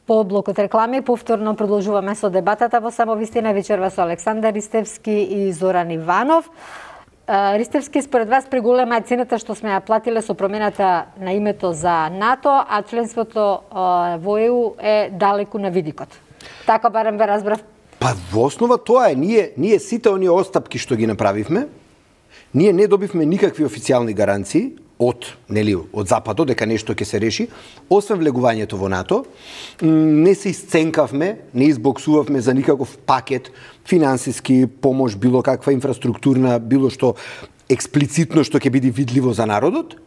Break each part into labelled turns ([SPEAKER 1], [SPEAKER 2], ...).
[SPEAKER 1] По блокот реклами повторно продолжуваме со дебатата во Само вистина вечерва со Александар Ристевски и Зоран Иванов. Ристевски, според вас преголема е цената што сме ја платиле со промената на името за НАТО, а членството во ЕУ е далеку на видикот. Така барем ве разбрав.
[SPEAKER 2] Па во основа тоа е, ние сите оние остапки што ги направивме, ние не добивме никакви официјални гаранции од Западот дека нешто ќе се реши, освен влегувањето во НАТО. Не се исценкавме, не избоксувавме за никаков пакет финансиски помош, било каква инфраструктурна, било што експлицитно што ќе биде видливо за народот.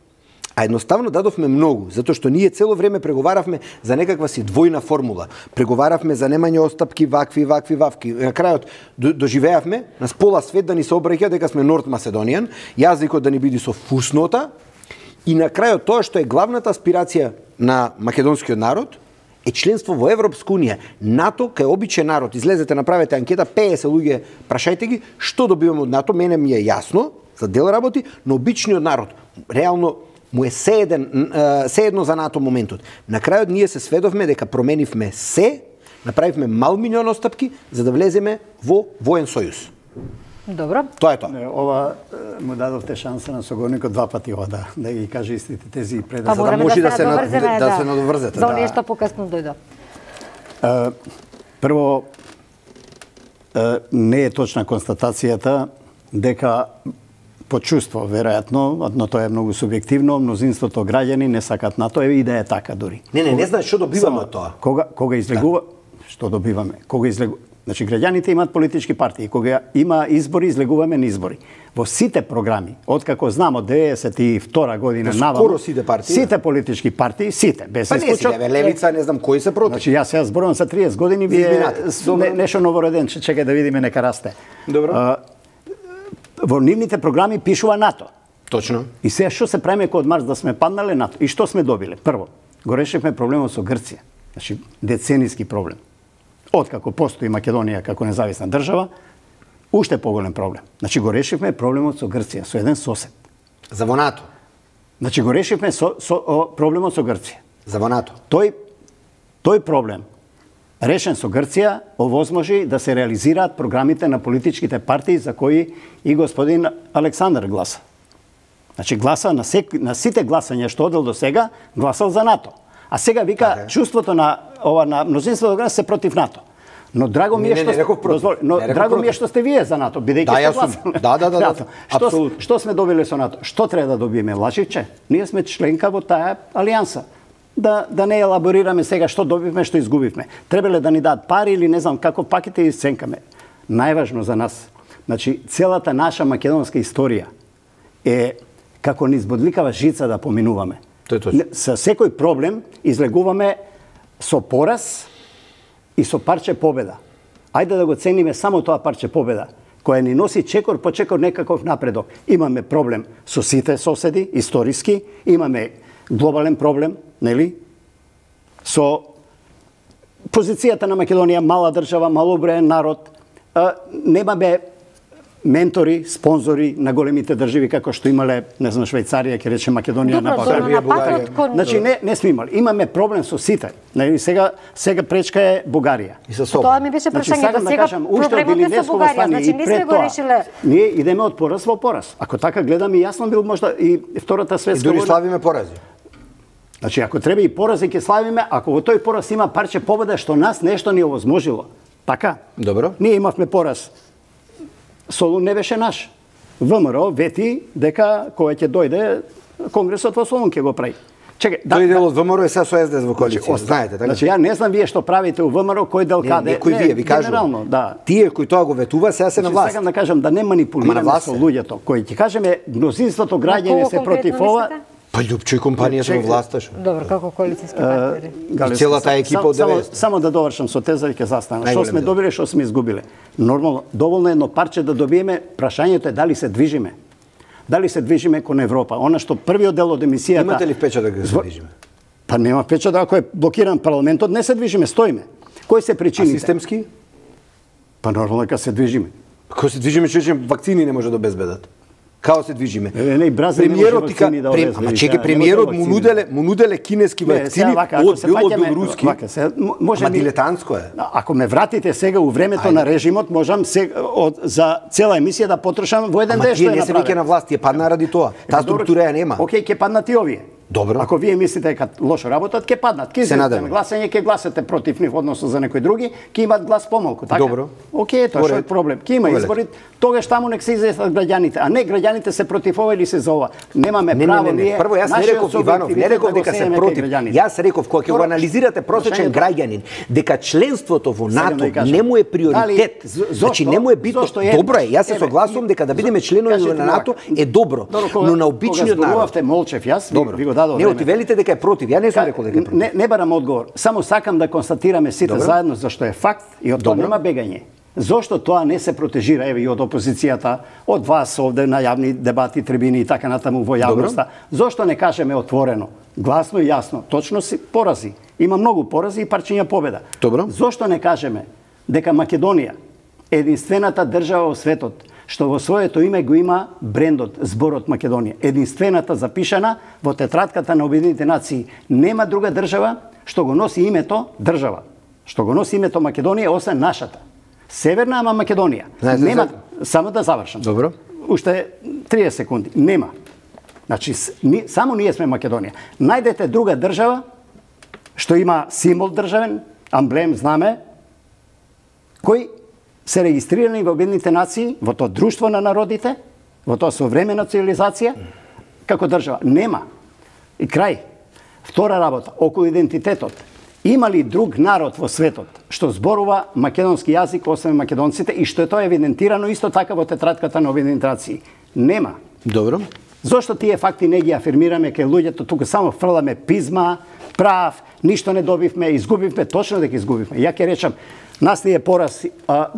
[SPEAKER 2] А едноставно дадовме многу, затоа што ние цело време преговаравме за некаква си двојна формула. Преговаравме за немање остапки, вакви. На крајот доживеавме на пола свет да ни се обраќа дека сме Норд Macedonian, јазикот да ни биде со фуснота, и на крајот тоа што е главната аспирација на македонскиот народ е членство во Европска унија. НАТО кај обичен народ, излезете, направете анкета, 50 луѓе, прашајте ги што добиваме од НАТО, мене ми е јасно за дел работи, но обичниот народ реално му е се едно за НАТО моментот. На крајот ние се сведовме дека променивме се, направивме мал милион остапки за да влеземе во воен сојуз.
[SPEAKER 1] Добро.
[SPEAKER 2] Тоа е тоа.
[SPEAKER 3] Ова му дадовте шанса на соговорникот два пати да ги каже истите тези пред
[SPEAKER 1] за да
[SPEAKER 2] може да се надоврзете.
[SPEAKER 1] За оние што покасно дојдо.
[SPEAKER 3] Прво, не е точна констатацијата дека по чувство, веројатно, но тоа е многу субјективно, мнозинството граѓани не сакат НАТО, и да е така дури.
[SPEAKER 2] Не знаеш што добиваме од тоа.
[SPEAKER 3] Кога излегува, што добиваме? Значи, граѓаните имаат политички партии. Кога има избори, излегуваме на избори. Во сите програми, откако знам од 92 година наваму,
[SPEAKER 2] скоро сите партии,
[SPEAKER 3] сите политички партии, сите, без исклучок.
[SPEAKER 2] Па не си, Левица, не знам кои се против.
[SPEAKER 3] Значи, јас сега зборувам за 30 години, вие нешто новороденче, чекај да видиме, нека расте.
[SPEAKER 2] Добро.
[SPEAKER 3] Во нивните програми пишува НАТО.
[SPEAKER 2] Точно.
[SPEAKER 3] И сега што се правиме кога од Марс да сме паднале НАТО? И што сме добиле? Прво, го решивме проблемот со Грција. Значи, деценијски проблем. Откако постои Македонија како независна држава, уште поголем проблем. Значи, го решивме проблемот со Грција, со еден сосед.
[SPEAKER 2] За во НАТО.
[SPEAKER 3] Значи, го решивме проблемот со Грција.
[SPEAKER 2] За во НАТО.
[SPEAKER 3] Тој проблем, решен со Грција, овозможи да се реализираат програмите на политичките партии за кои и господин Александар гласа. Значи, гласа на сите гласања што одел до сега, гласал за НАТО. А сега вика чувството на мнозинството граѓани се против НАТО. Но драго ми е што сте вие за НАТО, бидејќи сте гласали.
[SPEAKER 2] Да, апсолутно.
[SPEAKER 3] Што сме добиле со НАТО? Што треба да добиеме? Лажиче? Ние сме членка во таа алијанса. Да не елаборираме сега што добивме, што изгубивме. Требале да ни дадат пари или не знам како пакете и сценкаме. Најважно за нас, значи целата наша македонска историја е како низ бодликава жица да поминуваме. Со секој проблем излегуваме со пораз и со парче победа. Ајде да го цениме само тоа парче победа, која ни носи чекор по чекор некаков напредок. Имаме проблем со сите соседи, историски, имаме глобален проблем, нели? Со позицијата на Македонија, мала држава, малоброен народ, немаме ментори, спонзори на големите држави како што имале, не знам, Швајцарија, ќе рече Македонија, на
[SPEAKER 2] Србија, Бугарија.
[SPEAKER 3] Значи не сме имали. Имаме проблем со сите. Сега пречка е Бугарија.
[SPEAKER 2] И со собой.
[SPEAKER 1] Тоа ми беше прашањето. Сега проблемот е со Бугарија, значи не сме го решиле.
[SPEAKER 3] Ние идеме од пораз во пораз. Ако така гледаме, јасно бил можда и Втората светска
[SPEAKER 2] војна. И дури славиме порази.
[SPEAKER 3] Значи, ако треба и порази ќе славиме, ако во тој пораз има парче победа што нас нешто ни овозможило. Така?
[SPEAKER 2] Добро.
[SPEAKER 3] Ние имавме пораз. Солун не беше наш. ВМРО вети дека кој ќе дојде Конгресот во Солун ќе го прави. Чекај,
[SPEAKER 2] тој дел од ВМРО е се со СДС во коалиција, знаете, така?
[SPEAKER 3] Значи ја не знам вие што правите у ВМРО, кој дел каде.
[SPEAKER 2] Некој вие ви кажувам. Тие кои тоа го ветува сега се на власт.
[SPEAKER 3] Сакам да кажам да не манипулираме со луѓето, кои ќе кажеме мнозинството граѓани се против ова.
[SPEAKER 2] Па Љупчо и компанија се во власта што.
[SPEAKER 1] Добро, како коалициски партнери.
[SPEAKER 2] И целата екипа од 90.
[SPEAKER 3] Само да довршам со теза и ќе застана. Што сме добиле, што сме изгубиле. Нормално, доволно едно парче да добиеме, прашањето е дали се движиме. Дали се движиме кон Европа. Она што првиот дел од емисијата.
[SPEAKER 2] Имате ли впечаток дека се движиме?
[SPEAKER 3] Па нема впечаток, ако е блокиран парламентот, не се движиме, стоиме. Кои се причините?
[SPEAKER 2] А системски?
[SPEAKER 3] Па нормално дека се движиме.
[SPEAKER 2] Како се движиме, че вакцини не може да обезбедат. као се движиме.
[SPEAKER 3] Не, Бразил не може вакцини да овезме.
[SPEAKER 2] Ама чеки, премиерот му нуделе кинески вакцини од белоруски. Ама дилетантско е.
[SPEAKER 3] Ако ме вратите сега у времето на режимот, можам за цела емисија да потрошам во еден ден што е направено.
[SPEAKER 2] Ама тие не се веќе на власт, тие падна ради тоа. Таа структура ја нема.
[SPEAKER 3] Океј, ќе паднат и овие.
[SPEAKER 2] Добро.
[SPEAKER 3] Ако вие мислите дека лошо работат, ќе паднат. Ќе излезете на гласање, ќе гласате против нив, односно за некои други, ќе имат глас помалку, така?
[SPEAKER 2] Добро.
[SPEAKER 3] Океј, тоа што е проблем. Ќе има избори, тогаш таму нек се излезат граѓаните, а не граѓаните се против ова или се за ова. Немаме право ние.
[SPEAKER 2] Прво јас не реков Иванов, не реков дека се против. Јас реков кога ќе го анализирате просечен граѓанин, дека членството во НАТО не му е приоритет. Значи не му е битно. Добро е, јас се согласувам дека да бидеме членови на НАТО е добро, но на обичниот народ.
[SPEAKER 3] Молчев јас, ви го дадов
[SPEAKER 2] време. Не, велите дека е против. Ја не сум рекол дека е против.
[SPEAKER 3] Не барам одговор. Само сакам да констатираме сите заедно зашто е факт и од тоа нема бегање. Зошто тоа не се протежира еве и од опозицијата, од вас овде на јавни дебати, трибини и така натаму во јавноста? Зошто не кажеме отворено, гласно и јасно, точно си порази. Има многу порази и парчиња победа.
[SPEAKER 2] Добро.
[SPEAKER 3] Зошто не кажеме дека Македонија е единствената држава во светот што во своето име го има брендот, зборот Македонија. Единствената запишана во тетратката на Обединетите нации. Нема друга држава што го носи името држава, што го носи името Македонија, освен нашата. Северна, ама Македонија. Нема, само да завршам.
[SPEAKER 2] Добро.
[SPEAKER 3] Уште 30 секунди. Нема. Значи, само ние сме Македонија. Најдете друга држава што има символ државен, амблем, знаме, кој се регистрирани во Обединетите нации, во тоа друштво на народите, во тоа современа цивилизација, како држава. Нема. И крај. Втора работа, околу идентитетот. Има ли друг народ во светот што зборува македонски јазик, освен македонците, и што е тоа евидентирано исто така во тетратката на Обединетите нации? Нема.
[SPEAKER 2] Добро.
[SPEAKER 3] Зошто тие факти не ги афирмираме кај луѓето, тука само фрламе пизма, прав, ништо не добивме, изгубивме, точно дека изгубивме. Ја ќе речам, нас ни е пораз,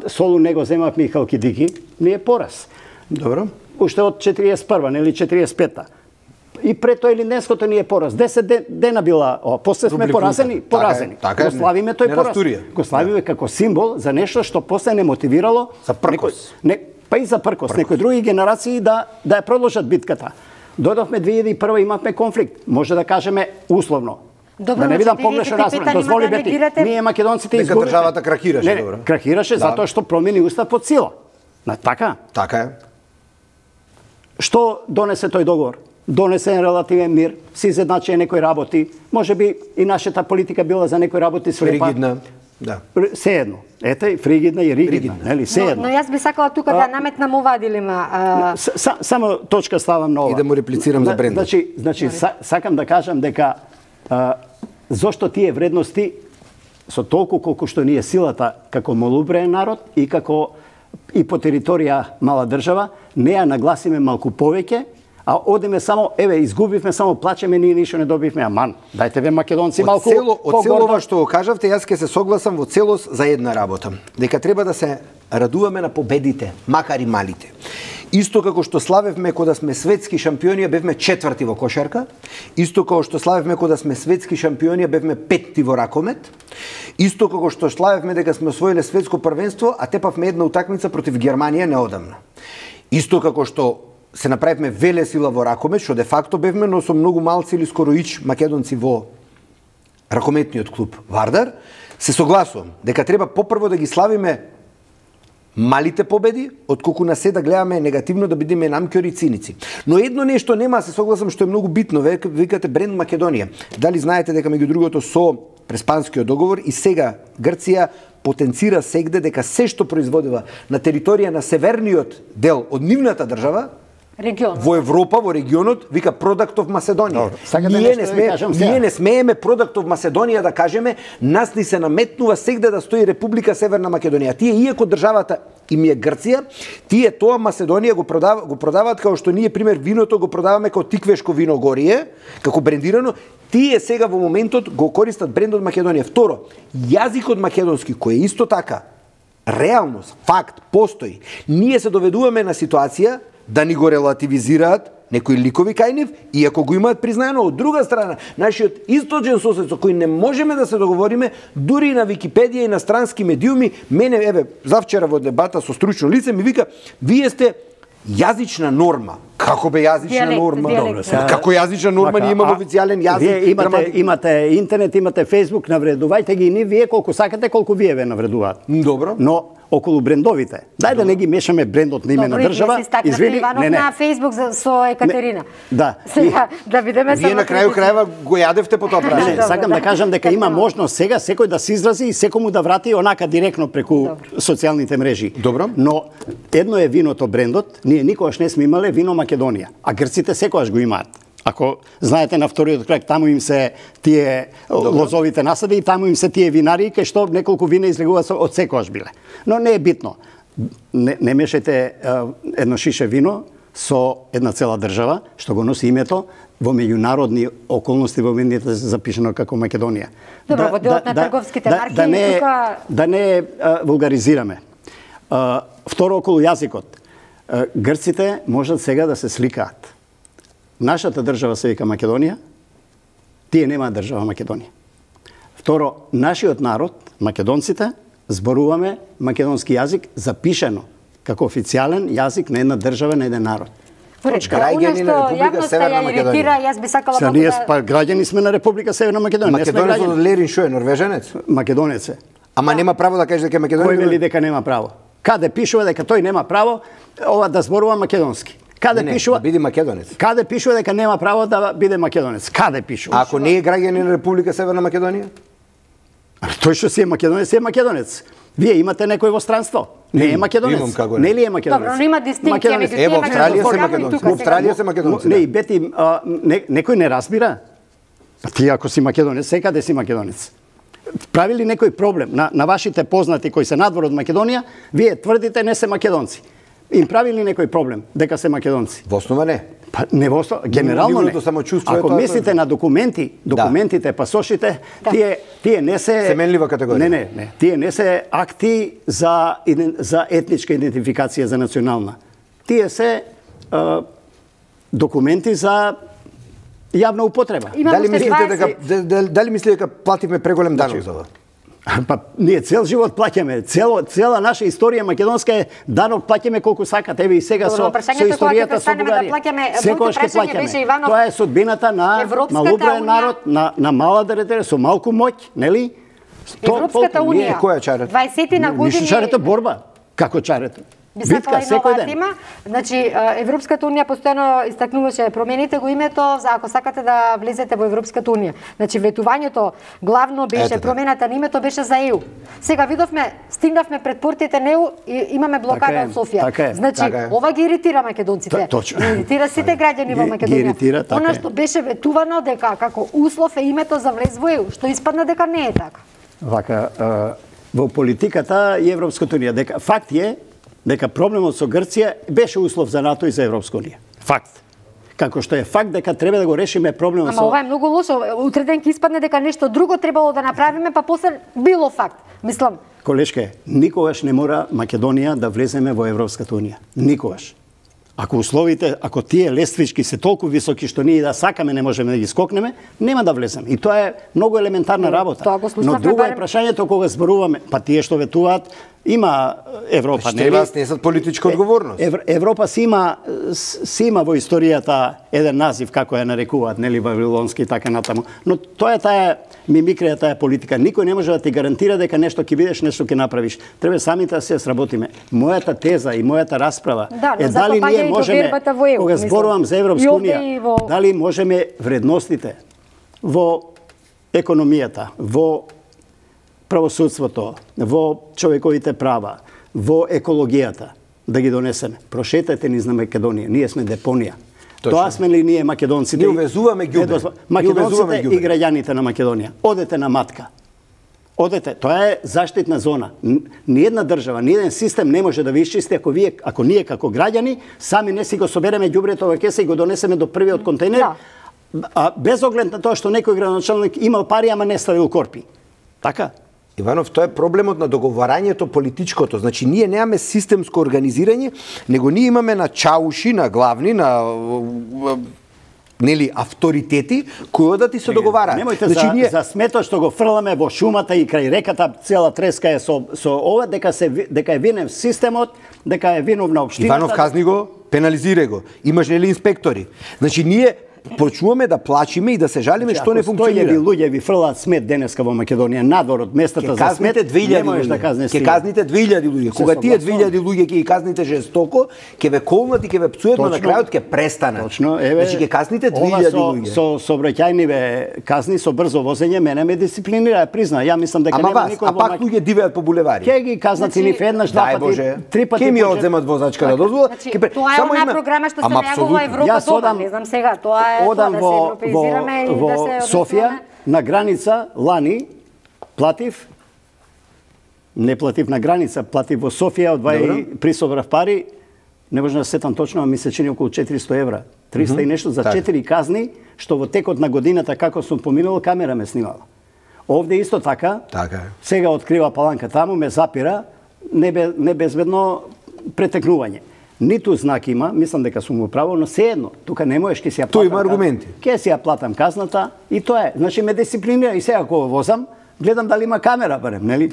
[SPEAKER 3] Солун не го земавме и Халкидики, ни е пораз.
[SPEAKER 2] Добро.
[SPEAKER 3] Уште од 41-та, нели 45-та. И пред тоа или днеското ни е пораз. 10 дена била, после сме поразени.
[SPEAKER 2] Така
[SPEAKER 3] го славиме тој пораз. Го славиме како символ за нешто што после не мотивирало
[SPEAKER 2] за пркос.
[SPEAKER 3] Па и за пркос. Некои други генерации да ја продолжат битката. Додовме 2001 имавме конфликт. Може да кажеме условно.
[SPEAKER 1] Добро,
[SPEAKER 3] да не видам погрешно разбран. Дозволи бети. Ние македонците изгубивме.
[SPEAKER 2] Дека државата крахираше, добро.
[SPEAKER 3] Крахираше затоа што промени устав под сила. Така?
[SPEAKER 2] Така е.
[SPEAKER 3] Што донесе тој договор? Донесе релативен мир, се изедначија некои работи. Може би и нашата политика била за некои работи слепа.
[SPEAKER 2] Фригидна. Да.
[SPEAKER 3] Се едно. Ете, фригидна и ригидна, нели? Се едно.
[SPEAKER 1] Но јас би сакала тука да наметнам ова дилема.
[SPEAKER 3] Само точка ставам на ова.
[SPEAKER 2] И да му реплицирам за брендот.
[SPEAKER 3] Значи сакам да кажам дека зошто тие вредности со толку колку што ни е силата како малоуброен народ и како и по територија мала држава, не ја нагласиме малку повеќе, а одиме само, еве, изгубивме, само плачеме, ние ништо не добивме, аман. Дајте ве македонци малку
[SPEAKER 2] од цело ова што го кажавте, јас ќе се согласам во целост за една работа. Дека треба да се радуваме на победите, макар и малите. Исто како што славевме кога сме светски шампиони, бевме 4-ти во кошарка. Исто како што славевме кога сме светски шампиони, бевме 5-ти во ракомет. Исто како што славевме дека сме освоиле светско првенство, а тепавме една утакмица против Германија неодамна. Исто како што се направивме велесила во ракомет, што де факто бевме, но со многу малци или скоро ич македонци во ракометниот клуб Вардар, се согласувам дека треба попрво да ги славиме малите победи, отколку на се да гледаме негативно да бидеме намкјори и циници. Но едно нешто нема, се согласам, што е многу битно, викате бренд Македонија. Дали знаете дека меѓу другото со Преспанскиот договор и сега Грција потенцира сегде дека се што производува на територија на северниот дел од нивната држава,
[SPEAKER 1] регионот.
[SPEAKER 2] Во Европа, во регионот, вика Product of Macedonia. Ние не смееме Product of Macedonia да кажеме, нас ни се наметнува сегде да стои Република Северна Македонија. Тие, иако државата им е Грција, тие тоа Македонија го продаваат како што ние, пример, виното го продаваме како тиквешко вино Горие, како брендирано, тие сега во моментот го користат брендот Македонија. Второ, јазикот македонски, кој е исто така реалност, факт, постои. Ние се доведуваме на ситуација да ни го релативизираат некои ликови кај нив, иако го имаат признаено. Од друга страна, нашиот источен сосед со кој не можеме да се договориме, дури и на Википедија и на странски медиуми, мене, еве, завчера во дебата со стручно лице ми вика, вие сте Јазична норма. Како бе јазична норма?
[SPEAKER 1] Добро,
[SPEAKER 2] како јазична норма ние имаме официјален јазик?
[SPEAKER 3] Вие имате интернет, имате Facebook, навредувајте ги ни вие колку сакате, колку вие ве навредуваат.
[SPEAKER 2] Добро.
[SPEAKER 3] Но околу брендовите. Дај да не ги мешаме брендот на име на држава.
[SPEAKER 1] Извини, Иванов на Facebook со Екатерина.
[SPEAKER 3] Да.
[SPEAKER 1] Сега да видиме
[SPEAKER 2] Вие на крају крајва го јадевте по тоа прашање.
[SPEAKER 3] Не, сакам да кажам дека има можност сега секој да се изрази и секому да врати онака директно преку социјалните мрежи.
[SPEAKER 2] Добро.
[SPEAKER 3] Но едно е виното брендот, ние никогаш не сме имале вино Македонија, а грците секогаш го имаат. Ако знаете на вториот крак, таму им се тие лозовите насади и таму им се тие винари, кај што неколку вина излегуваат од секогаш биле. Но не е битно. Не мешајте едно шише вино со една цела држава, што го носи името во меѓународни околности во медиите запишано како Македонија.
[SPEAKER 1] Добро, во делот на трговските марки тука
[SPEAKER 3] да не вулгаризираме. Второ, околу јазикот. Грците можат сега да се сликаат. Нашата држава се вика Македонија, тие немаат држава Македонија. Второ, нашиот народ, македонците, зборуваме македонски јазик запишено како официјален јазик на една држава, на еден народ.
[SPEAKER 2] Граѓани на Република Северна Македонија.
[SPEAKER 1] Јас би сакала
[SPEAKER 3] многу да... Па граѓани сме на Република Северна Македонија.
[SPEAKER 2] Македонец од Лерин шо е, норвеженец?
[SPEAKER 3] Македонец е.
[SPEAKER 2] Ама нема право да каже дека е македонец?
[SPEAKER 3] Кој вели дека нема право? Каде пишува дека тој нема право ова да зборува македонски? Каде пишува
[SPEAKER 2] да биде македонец?
[SPEAKER 3] Каде пишува дека нема право да биде македонец? Каде пишува?
[SPEAKER 2] А ако не е граѓанин на Република Северна Македонија?
[SPEAKER 3] Тој што си е македонец, е македонец. Вие имате некој во странство. Не е македонец.
[SPEAKER 2] Имам како
[SPEAKER 3] не ли е македонец?
[SPEAKER 1] Добро, но има дистинкција меѓу тие.
[SPEAKER 2] Во Австралија се македонци. Во Австралија се македонци.
[SPEAKER 3] Не, и бети некој не разбира. Па ти ако си македонец, секаде си македонец. Прави ли некој проблем на вашите познати кои се надвор од Македонија, вие тврдите не се македонци. Им прави ли некој проблем дека се македонци?
[SPEAKER 2] Во основа не.
[SPEAKER 3] Па не во основа, генерално не. Ако мислите на документите, пасошите, тие не се
[SPEAKER 2] семенлива категорија.
[SPEAKER 3] Не. Тие не се акти за етничка идентификација, за национална. Тие се документи за јавна употреба.
[SPEAKER 2] Дали мислите дека платиме преголем данок за ова?
[SPEAKER 3] Па ние цел живот плаќаме, цела наша историја македонска е данок плаќаме колку сакате. Еве и сега со историјата со Бугарија. Секогаш ќе плаќаме. Тоа е судбината на малоброен народ, на мала територија со малку моќ, нели?
[SPEAKER 1] Европската унија.
[SPEAKER 2] Која е чарето?
[SPEAKER 1] 20 години.
[SPEAKER 3] Чарето е борба. Како чарето?
[SPEAKER 1] Би сакала и нова тема. Значи, Европската унија постојано истакнуваше промените го името за ако сакате да влезете во Европската унија. Значи, ветувањето главно беше промената на името беше за ЕУ. Сега видовме, стигнавме пред портите на ЕУ и имаме блокада од Софија. Значи, ова ги иритира македонците. Иритира сите граѓани во Македонија. Она што беше ветувано дека како услов е името за влез во ЕУ, што испадна дека не е така.
[SPEAKER 3] Вака, во политиката и Европската унија, дека факт е дека проблемот со Грција беше услов за НАТО и за Европска унија. Факт. Како што е факт дека треба да го решиме проблемот со...
[SPEAKER 1] Ама ова е многу лошо. Утре ден ќе испадне дека нешто друго требало да направиме, па после било факт. Мислам...
[SPEAKER 3] Колешке, никогаш не мора Македонија да влеземе во Европската унија. Никогаш. Ако условите, ако тие лествички се толку високи што ние да сакаме не можеме да ги скокнеме, нема да влеземе. И тоа е многу елементарна работа. Но друго е прашањето кога зборуваме, па тие што ветуваат, има Европа,
[SPEAKER 2] нели? Вас несат политичка одговорност.
[SPEAKER 3] Европа си има во историјата еден назив како ја нарекуваат, нели, вавилонски и така натаму. Но тоа е таа мимикрија, таа политика. Никој не може да ти гарантира дека нешто ќе видиш, нешто ќе направиш. Треба самите да се сработиме. Мојата теза и мојата расправа е дали ние можеме, кога зборувам за Европска унија, дали можеме вредностите во економијата, во правосудството, во човековите права, во екологијата, да ги донесеме. Прошетајте низ на Македонија. Ние сме депонија. Тоа сме ли ние македонците?
[SPEAKER 2] Ние увезуваме ѓубре.
[SPEAKER 3] Македонците и граѓаните на Македонија. Одете на матка. Одете. Тоа е заштитна зона. Ниедна држава, ниеден систем не може да ви исчисти ако ние како граѓани сами не си го собереме ѓубрето во кеса и го донесеме до првиот контейнер, а без оглед на тоа што некој градоначалник имал пари, ама не ставил корпи. Така?
[SPEAKER 2] Иванов, тоа е проблемот на договарањето политичкото. Значи, ние немаме системско организирање, него ние имаме на чауши, на главни, на нели авторитети кои да ти се договараат.
[SPEAKER 3] Немојте за смето што го фрламе во шумата и крај реката, цела треска е со ова дека е винен системот, дека е виновна општината.
[SPEAKER 2] Иванов казни го пенализирај го. Имаш нели инспектори. Значи ние почнуваме да плачиме и да се жалиме што не функционира.
[SPEAKER 3] Ако 100.000 луѓе ви фрлаат смет денеска во Македонија надвор од местата за смет, не можеш да казнеш.
[SPEAKER 2] Ќе казните 2000 луѓе. Кога тие 2000 луѓе ќе ги казните жестоко, ќе ве колнат и ќе ве пцуат, но на крајот ќе престанат.
[SPEAKER 3] Точно, еве.
[SPEAKER 2] Значи ќе казните 2000 луѓе.
[SPEAKER 3] Со сообраќајниве казни со брзо возење мене ме дисциплинира, призна. Ја мислам дека нема никој
[SPEAKER 2] во пак луѓе дивеат по булевари.
[SPEAKER 3] Ќе ги казнат и нив еднаш, два пати, три пати.
[SPEAKER 2] Ќе ми одземат возачката дозвола.
[SPEAKER 1] Тоа е она програма што се најавува во Европа дома, не знам сега, тоа е
[SPEAKER 3] одам во Софија на граница лани платив, не платив на граница, платив во Софија, присобрав пари, не можам да сетам точно, а ми се чини околу 400 евра. 300 и нешто за 4 казни, што во текот на годината како сум поминал, камера ме снимала. Овде исто така, сега открива паланка таму, ме запира, небезбедно претекнување. Ниту знак има, мислам дека сум го право, но сеедно, тука не можеш, ќе си ја платам.
[SPEAKER 2] Тој има аргументи.
[SPEAKER 3] Ќе си ја платам казната и тоа е. Значи ме дисциплинира и сега кога возам, гледам дали има камера барем, нели?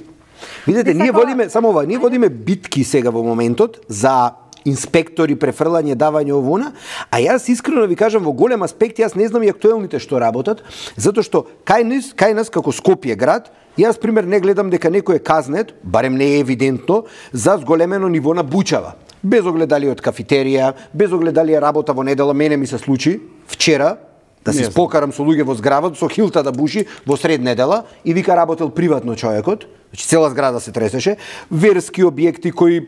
[SPEAKER 2] Видете, ние водиме само ова, ние водиме битки сега во моментот за инспектори, префрлање, давање овона, а јас искрено ви кажам во голем аспект, јас не знам и актуелните што работат, затоа што кај нас како Скопје град, јас пример не гледам дека некој е казнет, барем не е евидентно, за зголемено ниво на бучава. Без огледали од кафетерија, без огледали работа во недела, мене ми се случи вчера да се спокарам со луѓе во зградот, со хилта да буши во сред недела и вика работел приватно човекот, значи цела зграда се тресеше, верски објекти кои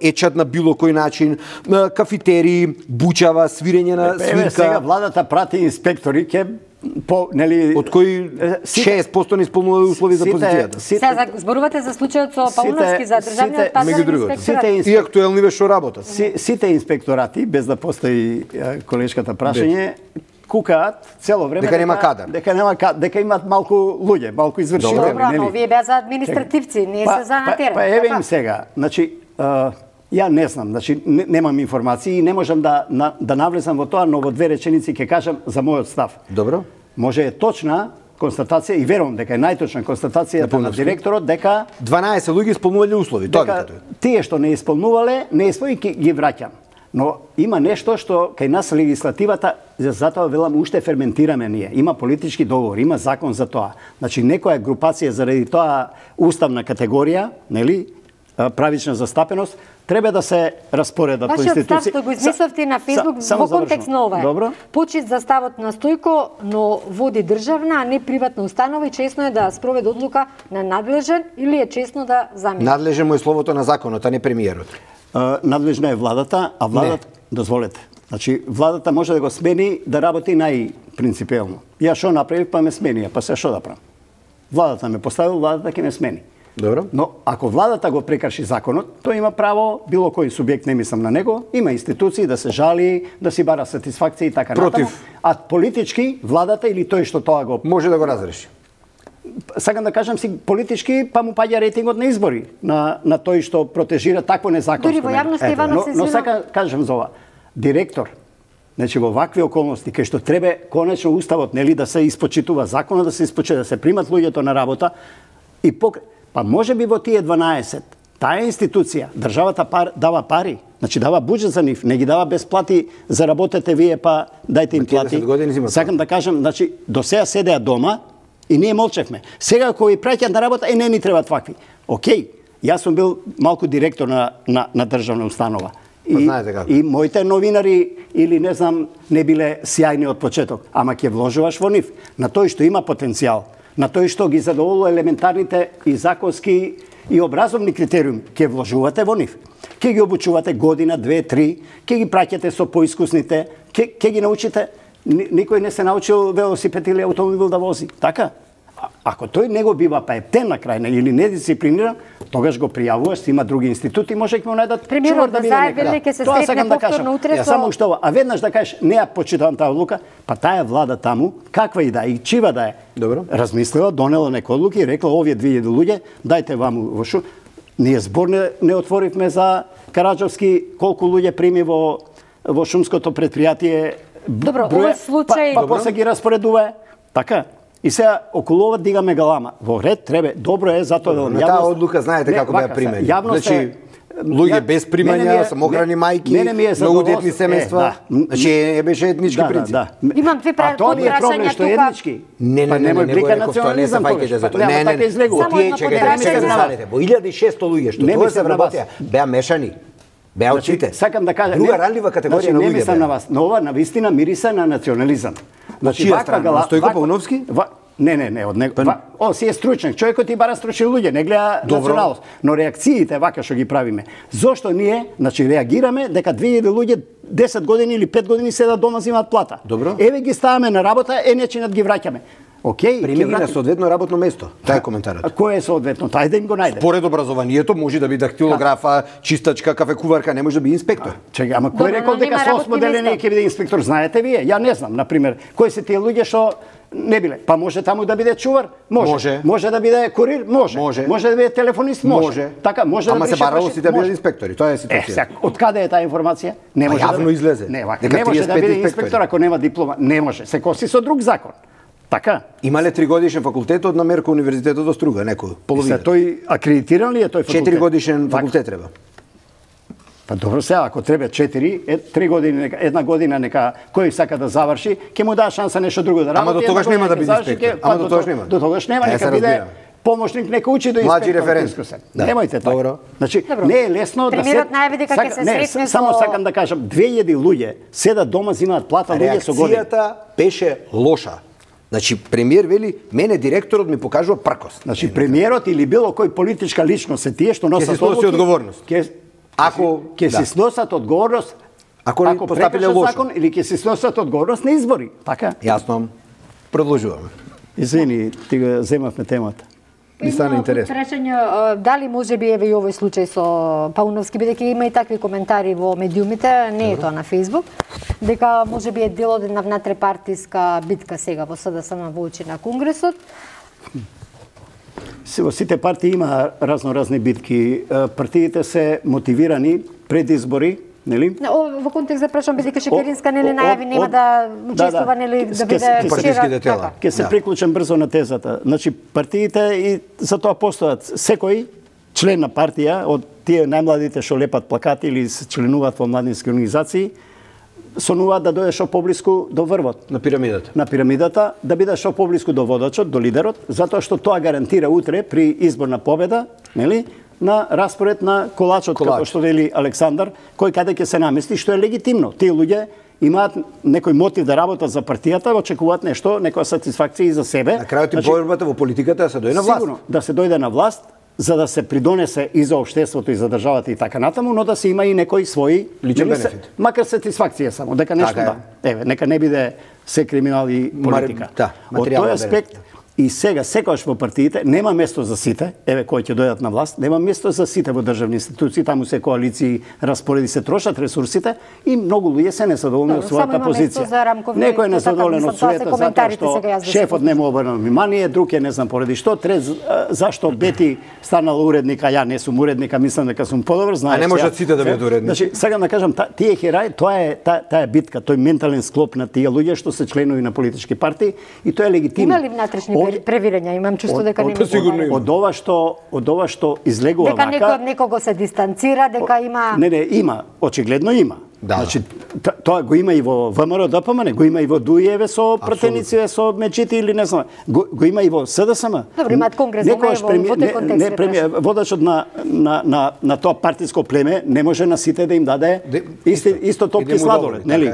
[SPEAKER 2] ечат на било кој начин, кафетерии, бучава, свирење на свирка.
[SPEAKER 3] Сега владата прати инспектори ке
[SPEAKER 2] од кои 6% не исполнуваат услови за позицијата.
[SPEAKER 1] Сега зборувате за случајот со Пауловски за државниот пазарен инспекторат.
[SPEAKER 2] И актуелни ве што работат.
[SPEAKER 3] Сите инспекторати, без да постои колешката прашање, кукаат цело време
[SPEAKER 2] дека нема кадар.
[SPEAKER 3] Дека имаат малку луѓе, малку извршители.
[SPEAKER 1] Добро, но вие беа за административци, не се за на терен.
[SPEAKER 3] Па еве им сега, значи ја не знам, значи немам информации и не можам да навлезам во тоа, но во две реченици ќе кажам за мојот став.
[SPEAKER 2] Добро.
[SPEAKER 3] Може е точна констатација и верувам дека е најточна констатацијата на директорот дека
[SPEAKER 2] 12 луѓе исполнувале услови, тоа дека
[SPEAKER 3] тие што не исполнувале, не ги враќам. Но има нешто што кај нас легислативата, затоа велам уште ферментираме ние. Има политички договор, има закон за тоа. Значи некоја групација заради тоа уставна категорија, нели, правична застапеност, треба да се распоредат по институции.
[SPEAKER 1] Вашиот став што го измисловте на Фейсбук во контекст на ова е. Почит за ставот на Стојко, но води државна, а не приватна установа и чесно е да спроведе одлука на надлежен или е чесно да замени?
[SPEAKER 2] Надлежен му е словото на законот, а не премиерот.
[SPEAKER 3] Надлежна е владата, а владата, дозволете. Значи, владата може да го смени да работи најпринципиелно. Ја што направив, па ме смени, па се што да правам? Владата ме поставил, владата ќе ме смени.
[SPEAKER 2] Добро.
[SPEAKER 3] Но ако владата го прекрши законот, тој има право, било кој субјект, не мислам на него, има институции да се жали, да си бара сатисфакција и така натаму. А политички владата или тој што тоа го
[SPEAKER 2] може да го разреши.
[SPEAKER 3] Сакам да кажам си политички, па му паѓа рейтингот на избори на тој што протежира такво незаконство.
[SPEAKER 1] Дури во јавноста Иванов се
[SPEAKER 3] но сакам кажам за ова. Директор, значи во вакви околности кај што треба конечно уставот нели да се испочитува законот, да се испочитува, да се примат луѓето на работа и па може би во тие 12 таа институција државата дава пари, значи дава буџет за нив, не ги дава бесплати за работете вие па дајте им плати. Сакам да кажам, значи до сега седеа дома и ние молчевме. Сега кои праќаат на работа, не ни требаат вакви. Океј, јас сум бил малку директор на државна установа. И моите новинари или не знам не биле сјајни од почеток, ама ќе вложуваш во нив, на тој што има потенцијал, на тој што ги задоволува елементарните и законски и образовни критериуми, ќе вложувате во нив. Ќе ги обучувате година, 2, 3, ќе ги праќате со поискусните, ќе ги научите. Никој не се научил велосипед или автомобил да вози, така? Ако тој не го бива паептен на крај или недисциплиниран, тогаш го пријавуваш, има други институти, може ќе му најдат
[SPEAKER 1] чувар да биде некаде. Тоа сакам да кажам.
[SPEAKER 3] Само што ова, а веднаш да кажеш, не ја почитувам таа одлука, па таа влада таму, каква и да е, и чива да е.
[SPEAKER 2] Добро.
[SPEAKER 3] Размислила, донела некои одлуки и рекла овие 2000 луѓе, дајте ваму во шу. Ние збор не отворивме за Караџовски колку луѓе прими во шумското предпријатие.
[SPEAKER 1] Добро, овој случај
[SPEAKER 3] па после ги распоредува. Така. И сега околу ова дигаме галама. Во ред треба, добро е затоа да
[SPEAKER 2] таа одлука знаете како беа примени.
[SPEAKER 3] Значи
[SPEAKER 2] луѓе без примања, самохрани мајки, многу детни семејства. Значи не беше етнички принцип.
[SPEAKER 1] Имам две прашања тука.
[SPEAKER 3] А тоа е проблем што е етнички.
[SPEAKER 2] Не,
[SPEAKER 3] немој блика национализам
[SPEAKER 2] за тоа.
[SPEAKER 3] Не, така излегува.
[SPEAKER 2] Тие чекајте, во 1600 луѓе што тоа се вработеа, беа мешани. Беа очите.
[SPEAKER 3] Сакам да кажам,
[SPEAKER 2] друга ранлива категорија на луѓе.
[SPEAKER 3] Не мислам на вас, но ова навистина мириса на национализам.
[SPEAKER 2] Значи ваква гала, Стојко Пауновски?
[SPEAKER 3] Не, од него. Си е стручник, човекот и бара стручни луѓе, не гледа националност. Но реакциите вака што ги правиме. Зошто ние, значи реагираме дека 2000 луѓе 10 години или 5 години седат дома земаат плата.
[SPEAKER 2] Добро.
[SPEAKER 3] Еве ги ставаме на работа, нечинат ги враќаме. Океј,
[SPEAKER 2] примени на соодветно работно место. Тоа е коментарот.
[SPEAKER 3] Кој е соодветно? Тај да им го најде.
[SPEAKER 2] Според образованието може да биде дактилографа, чистачка, кафекуварка, не може да биде инспектор.
[SPEAKER 3] Чекај, ама кој рекол дека со осмоделени ќе биде инспектор? Знаете вие? Ја не знам, на пример, кои се тие луѓе што не биле. Па може таму да биде чувар? Може. Може да биде курир? Може. Може да биде телефонист? Може. Така, може да биде.
[SPEAKER 2] Ама се барало сите да бидат инспектори. Тоа е ситуација.
[SPEAKER 3] Од каде е таа информација? Не може
[SPEAKER 2] јавно излезе.
[SPEAKER 3] Не може да биде инспектор ако нема диплома. Не може. Се коси со друг закон. Така.
[SPEAKER 2] Имале 3-годишен факултет од Намерко универзитетот од Струга, некој половина.
[SPEAKER 3] Тој акредитиран ли е тој факултет?
[SPEAKER 2] 4-годишен факултет треба.
[SPEAKER 3] Па добро сега, ако треба 4, 3 години, една година нека кој сака да заврши, ќе му даа шанса нешто друго да работи.
[SPEAKER 2] Ама до тогаш нема да биде инспектор. Ама до тогаш нема.
[SPEAKER 3] До тогаш нема, нека биде помошник, нека учи до инспектор.
[SPEAKER 2] Млади референт.
[SPEAKER 3] Немојте така. Значи, не е лесно да се...
[SPEAKER 1] Премиерот најави дека ќе се сретне
[SPEAKER 3] само сакам да кажам, 2000 луѓе седат дома, земаат плата, луѓе со години.
[SPEAKER 2] Реакцијата беше лоша. Значи, премиер вели, мене директорот ми покажува пркост.
[SPEAKER 3] Значи, премиерот или било кој политичка личност се тие што носат
[SPEAKER 2] одговорност.
[SPEAKER 3] Ако ќе се сносат одговорност, ако постапиле лошо закон или ќе се сносат одговорност на избори, така?
[SPEAKER 2] Јасно. Продолжуваме.
[SPEAKER 3] Извини, ти го земавме темата.
[SPEAKER 2] Ми стана интересно.
[SPEAKER 1] Прашање, дали може би еве и овој случај со Пауновски, бидејќи има и такви коментари во медиумите, не е тоа на Facebook, дека може би е дел од една внатрепартиска битка сега во СДСМ во очи на Конгресот.
[SPEAKER 3] Во сите партии има разни битки. Партиите се мотивирани пред избори, нели?
[SPEAKER 1] Во контекст да прашам, бидејќи Шекеринска нели најави нема да учествува нели да биде
[SPEAKER 2] партиските тела.
[SPEAKER 3] Ќе се приклучам брзо на тезата. Значи партиите и за тоа постојат. Секој член на партија од тие најмладите што лепат плакати или се членуваат во младински организации, сонуваат да дојде шо поблиску до врвот.
[SPEAKER 2] На пирамидата.
[SPEAKER 3] На пирамидата, да биде шо поблиску до водачот, до лидерот, затоа што тоа гарантира утре при изборна победа, нели, на распоред на колачот, како што вели Александар, кој каде ќе се намести, што е легитимно. Тие луѓе имаат некој мотив да работат за партијата, очекуваат нешто, некоја сатисфакција и за себе.
[SPEAKER 2] На крајот и борбата во политиката да се дојде на власт.
[SPEAKER 3] Сигурно, да се дојде на власт, за да се придонесе и за општеството и за државата и така натаму, но да се има и некој свој
[SPEAKER 2] личен бенефит.
[SPEAKER 3] Макар сатисфакција само, дека нешто да. Еве, нека не биде се криминал и политика. Од тој аспект и сега секогаш во партиите нема место за сите, еве кои ќе дојдат на власт, нема место за сите во државни институции, таму се коалиции, распореди се трошат ресурсите и многу луѓе се несадоволни од својата позиција. Некој е несадоволен од својата затоа што шефот не му обрнал внимание, друг е не знам поради што, зашто Бети станала уредник, а ја не сум уредник, а мислам дека сум подобар, знаеш.
[SPEAKER 2] А не можат сите да бидат уредници.
[SPEAKER 3] Значи, сакам да кажам, тие херај, тоа е таа битка, тој ментален склоп на тие луѓе што се членови на политички партии и тоа е легитимно.
[SPEAKER 1] Има ли внатрешни превирања? Имам чувство дека нема.
[SPEAKER 3] Од ова што излегува вака.
[SPEAKER 1] Дека некој од некого се дистанцира, дека има.
[SPEAKER 3] Не, има, очигледно има. Значи тоа го има и во ВМРО ДПМН, го има и во Дујеве со пратеници со мечити или не знам. Го има и во СДСМ.
[SPEAKER 1] Добро, имаат конгрес, во тој контекст.
[SPEAKER 3] Водачот на тоа партиско племе не може на сите да им даде исто топки сладолед, нели?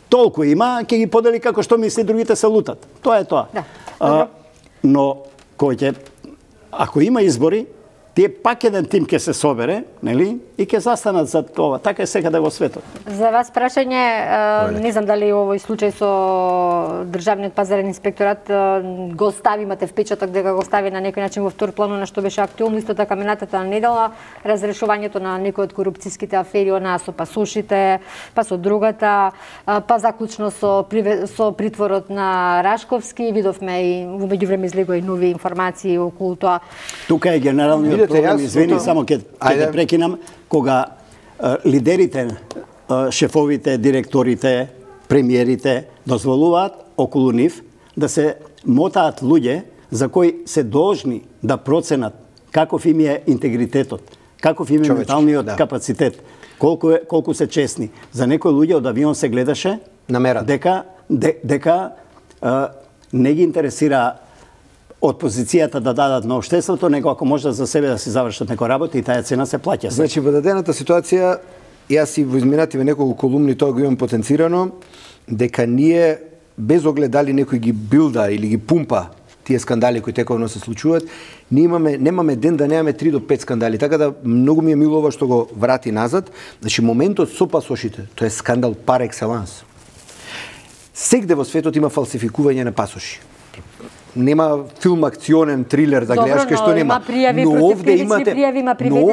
[SPEAKER 3] Толку има, ќе ги подели како што мисли, другите се лутат. Тоа е тоа. Но ако има избори, тие пак еден тим ќе се собере, нели? И ќе застанат за тоа. Така е секаде во светот.
[SPEAKER 1] За вас прашање, не знам дали овој случај со Државниот пазарен инспекторат го стави, имате впечаток дека го стави на некој начин во втор план на што беше актуелно, исто така минатата недела разрешувањето на некои од корупцијските афери, онаа со пасошите, па со другата, па заклучно со притворот на Рашковски, видовме и во меѓувреме излегоа и нови информации околу тоа.
[SPEAKER 3] Тука е генералниот проблем, извини, само ќе те прекинам, кога лидерите, шефовите, директорите, премиерите дозволуваат околу нив да се мотаат луѓе за кои се должни да проценат каков им е интегритетот, каков им е менталниот капацитет, колку се честни. За некои луѓе од авион се гледаше дека не ги интересира од позицијата да дадат на општеството, него ако може за себе да си завршат некој работа и таа цена се плаќа.
[SPEAKER 2] Значи, во дадената ситуација, јас и во изминативе неколку колумни тоа го имам потенцирано, дека ние, без оглед дали некој ги билда или ги пумпа тие скандали кои тековно се случуваат, ние немаме ден да немаме 3 до 5 скандали. Така да многу ми е мило ова што го врати назад. Значи, моментот со пасошите, тоа е скандал пар екселанс. Сегде во светот има фалсификување на пасоши. Нема филм акционен трилер да гледаш кај што нема. Но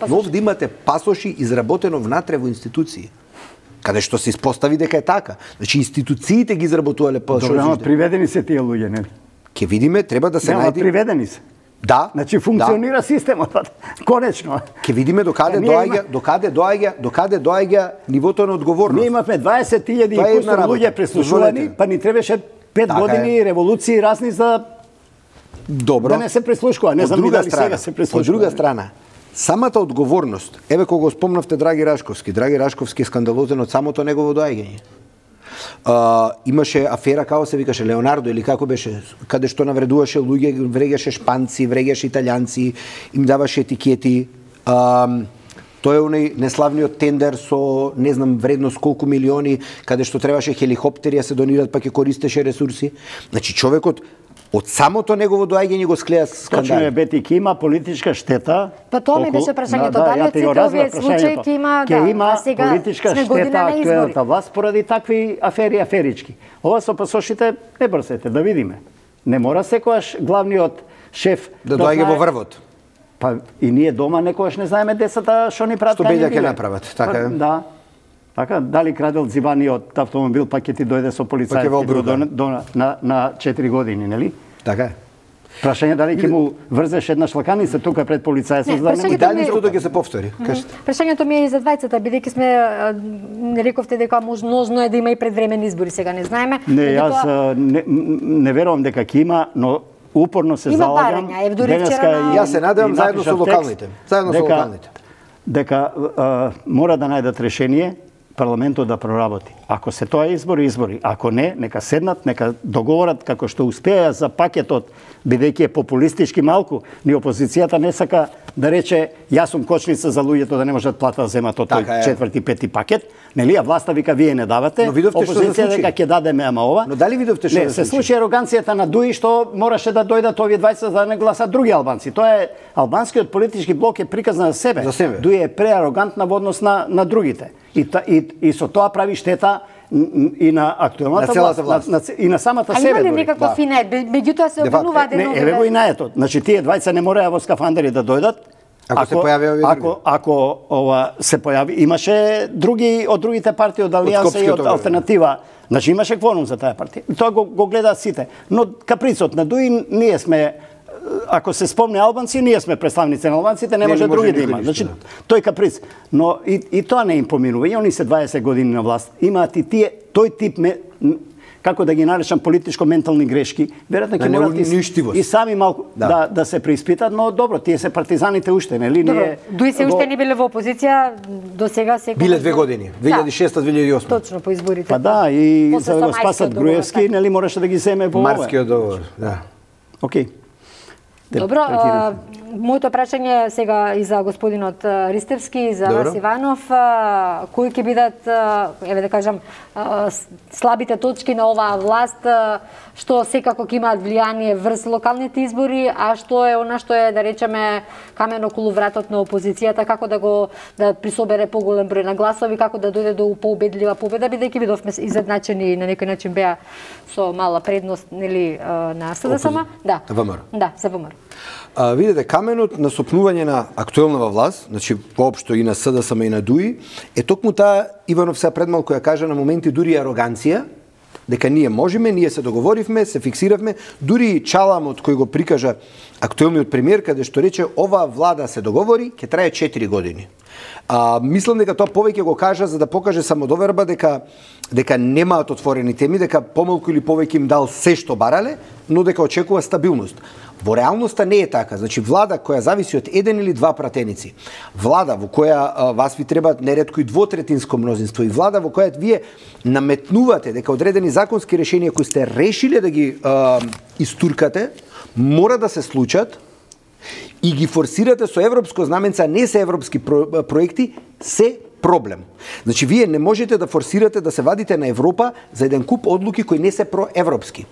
[SPEAKER 2] овде имате пасоши изработено внатре во институции. Каде што се испостави дека е така. Значи институциите ги изработувале пасоши.
[SPEAKER 3] Добро, приведени се тие луѓе, нели?
[SPEAKER 2] Ке видиме, треба да се најде.
[SPEAKER 3] Приведени се.
[SPEAKER 2] Да.
[SPEAKER 3] Значи функционира системот, конечно.
[SPEAKER 2] Ке видиме докаде доаѓа нивото на одговорност.
[SPEAKER 3] Ние имавме 20.000 и кусур луѓе преслушувани, па ни требаше 5 години револуции разни за да не се преслушкува. Не знам дали сега се преслушкува.
[SPEAKER 2] Од друга страна, самата одговорност, еве кога го спомнавте Драги Рашковски е скандалозен од самото негово доаѓање. Имаше афера, како се викаше, Леонардо или како беше, каде што навредуваше луѓе, врегаше шпанци, врегаше италијанци, им даваше етикети. Тој е оној неславниот тендер со не знам вредност колку милиони, каде што требаше хеликоптери да се донират, па ќе користеше ресурси. Значи човекот од самото негово доаѓање го склеа скандал.
[SPEAKER 3] Точно е, Бети, ке има политичка штета.
[SPEAKER 1] Па тоа ми беше прашањето, дали од сите овие случаи ќе има,
[SPEAKER 3] а сега политичка штета актуелната власт поради такви афери аферички. Ова со пасошите не брсете, да видиме. Не мора секогаш главниот шеф
[SPEAKER 2] да доаѓа во врвот.
[SPEAKER 3] Па и ние дома некогаш не знаеме децата што ни прават.
[SPEAKER 2] Што беља ќе направат, така е.
[SPEAKER 3] Да. Така, дали крадел дзиваниот автомобил, па ќе ти дојде со полицајски на 4 години, нели?
[SPEAKER 2] Така е.
[SPEAKER 3] Прашање дали ќе му врзеш една шлаканица тука пред полицајцот, за да
[SPEAKER 2] не дали истото ќе се повтори.
[SPEAKER 1] Прашањето ми е и за двајцата, бидејќи сме не рековте дека можно е да има и предвремени избори, сега не знаеме.
[SPEAKER 3] Не, јас не верувам дека ќе има, но упорно се залагам.
[SPEAKER 2] Јас се надевам заедно со локалните.
[SPEAKER 3] Дека мора да најдат решение парламентот да проработи. Ако се тоа избори. Ако не, нека седнат, нека договорат како што успеа за пакетот, бидејќи е популистички малку. Ни опозицијата не сака да рече јас сум кочница за луѓето да не можат плата да земат од тој четврти, пети пакет. Нели, а власта вика вие не давате. Опозицијата дека ќе дадеме ама ова.
[SPEAKER 2] Но дали видовте што
[SPEAKER 3] се случи ароганцијата на Дуи што мораше да дојдат овие 20 за да не гласат други албанци. Тоа е албанскиот политички блок е приказна за себе. Дуи е преарогантна во однос на другите. И со тоа прави штета и на актуелната власт, и на самата себе.
[SPEAKER 1] А има ли некаква фина меѓутоа се обвинуваат едно?
[SPEAKER 3] Еве го и наетот. Значи тие двајца не мореа во скафандери да дојдат. Ако се појави, имаше други од другите партии од Алијанса и од Алтернатива. Значи имаше кворум за таа партија. Тоа го гледаат сите. Но каприцот на Дуи ние сме, ако се спомне албанци, ние сме представници на албанците, не може други да има. Значи тој каприц. Но и тоа не им поминува. И они се 20 години на власт. Имаат и тие тој тип како да ги наречам политичко-ментални грешки, веројатно ќе морат и сами малку да се преиспитат, но добро, тие се партизаните уште, нели?
[SPEAKER 1] Дуи се уште не биле во опозиција, до сега секој
[SPEAKER 2] биле 2 години, 2006-2008.
[SPEAKER 1] Точно по изборите.
[SPEAKER 3] Па да, и за да го спасат Груевски, нели можеше да ги земе во
[SPEAKER 2] Марскиот договор, да.
[SPEAKER 3] Океј.
[SPEAKER 1] Добро, моето прашање сега и за господинот Ристевски и за Вас Иванов, кои ќе бидат, еве да кажам, слабите точки на оваа власт, што секако ќе имаат влијание врз локалните избори, а што е она што е, да речеме, камен околу вратот на опозицијата, како да присобере поголем број на гласови, како да дојде до поубедлива победа, бидејќи видовме изедначени и на некој начин беа со мала предност, нели, на СДСМ. Да.
[SPEAKER 2] ВМРО.
[SPEAKER 1] Да, за ВМРО.
[SPEAKER 2] Видите, каменот на сопнување на актуелнава власт, значи воопшто и на СДСМ и на ДУИ, е токму таа, Иванов сега пред малку ја кажа, на моменти дури ароганција, дека ние можеме, ние се договоривме, се фиксиравме, дури чаламот кој го прикажа актуелниот премиер, каде што рече ова влада се договори, ќе трае 4 години. Мислам дека тоа повеќе го кажа за да покаже самодоверба дека немаат отворени теми, дека помалку или повеќе им дал се што барале, но дека очекува стабилност. Во реалноста не е така. Значи, влада која зависи од еден или два пратеници, влада во која вас ви треба неретко и двотретинско мнозинство и влада во која вие наметнувате дека одредени законски решенија кои сте решиле да ги истуркате, мора да се случат и ги форсирате со европско знаменце, а не се европски проекти, се проблем. Значи, вие не можете да форсирате да се вадите на Европа за еден куп одлуки кои не се проевропски.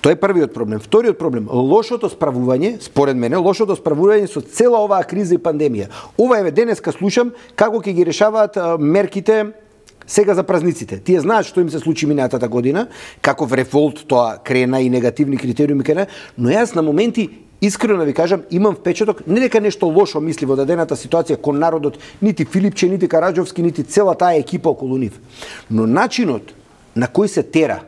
[SPEAKER 2] Тоа е првиот проблем. Вториот проблем, лошото справување, според мене, лошото справување со цела оваа криза и пандемија. Ова еве денеска слушам како ќе ги решаваат мерките сега за празниците. Тие знаат што им се случи минатата година, каков револт тоа крена и негативни критериуми крена, но јас на моменти искрено ви кажам, имам впечаток не дека нешто лошо мисли во дадената ситуација кон народот, нити Филипче, нити Караджовски, нити цела таа екипа околу нив. Но начинот на кој се тера,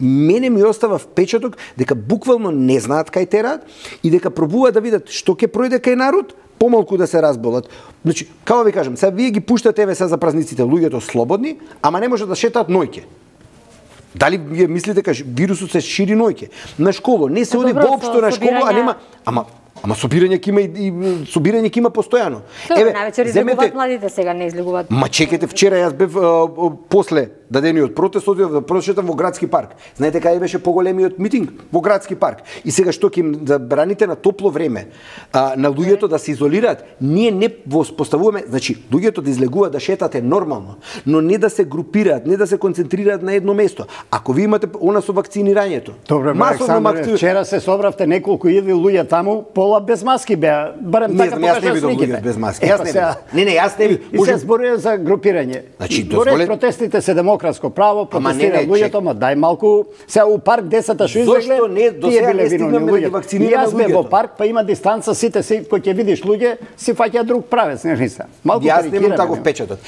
[SPEAKER 2] мене ми остава впечаток дека буквално не знаат кај тераат и дека пробуваат да видат што ќе пројде кај народ, помалку да се разболат. Значи, како ви кажам, сега вие ги пуштате еве за празниците луѓето слободни, ама не можат да шетаат ноќе. Дали вие мислите дека вирусот се шири ноќе? На школа не се оди воопшто на школа, а нема Ама собирање ќе има и собирање ќе има постојано.
[SPEAKER 1] Еве, највеќе излегуваат младите, сега не излегуваат.
[SPEAKER 2] Ма чекайте, вчера јас бев после дадениот протест, одев да прошетам во градски парк. Знаете кај беше поголемиот митинг? Во градски парк. И сега што ќе им забраните на топло време на луѓето да се изолираат? Ние не воспоставуваме, значи луѓето да излегуваат да шетат е нормално, но не да се групираат, не да се концентрираат на едно место. Ако ви имате она со вакцинирањето.
[SPEAKER 3] Добре, Александре, вчера се собравте неколку илјади луѓе таму, пола без маски беа. Барем така покажа сликите.
[SPEAKER 2] Без маски. Јас не видов.
[SPEAKER 3] И се зборува за групирање.
[SPEAKER 2] Значи,
[SPEAKER 3] дозволете протестите се демократско право, протестираат луѓето, ма дај малку сега у парк децата што излегле.
[SPEAKER 2] Зошто не до сега не стигнаме да ги вакцинираме луѓето?
[SPEAKER 3] Јас бе во парк, па има дистанца, сите си кој ќе видиш луѓе, си фаќа друг правец, не се. Малку
[SPEAKER 2] јас немам таков печатот.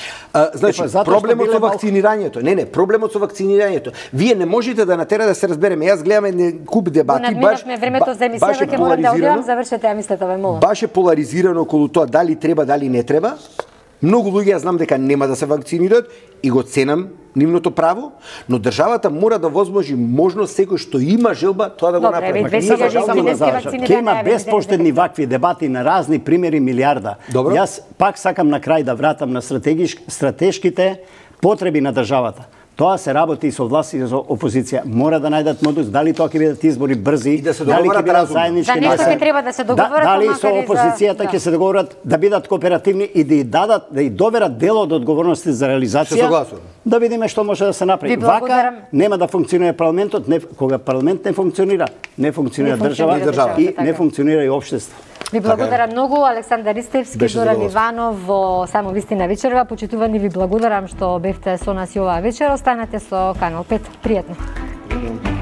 [SPEAKER 2] Значи, проблемот со вакцинирањето. Не, проблемот со вакцинирањето. Вие не можете да натерате да се разбереме. Јас гледам еден куп дебати,
[SPEAKER 1] надминавме времето за емисијата, ќе морам да одидам, завршете ја мислата, ве молам.
[SPEAKER 2] Баш е поларизирано околу тоа дали треба, дали не треба. Многу луѓе знам дека нема да се вакцинираат и го ценам нивното право, но државата мора да возможи можност секој што има желба тоа да го направи.
[SPEAKER 3] Ќе има безпоштедни вакви дебати на разни примери милиарда.
[SPEAKER 2] Добро.
[SPEAKER 3] Јас пак сакам на крај да вратам на стратешките потреби на државата. Тоа се работи и со власт и со опозиција. Мора да најдат модус дали тоа ќе бидат избори брзи,
[SPEAKER 2] да се
[SPEAKER 3] дали ќе бидат заеднички.
[SPEAKER 1] За нешто ќе треба да се договорат,
[SPEAKER 3] дали со опозицијата ќе се договорат да бидат кооперативни и да дадат, да доверат дел од одговорности за реализација. Да видиме што може да се направи. Вака нема да функционира парламентот, кога парламент не функционира држава и не функционира и општество.
[SPEAKER 1] Ви благодарам многу, Александар Ристевски, Зоран Иванов во Само вистина вечерва. Почитувани, ви благодарам што бевте со нас и оваа вечер. Останете со Канал 5. Пријатно.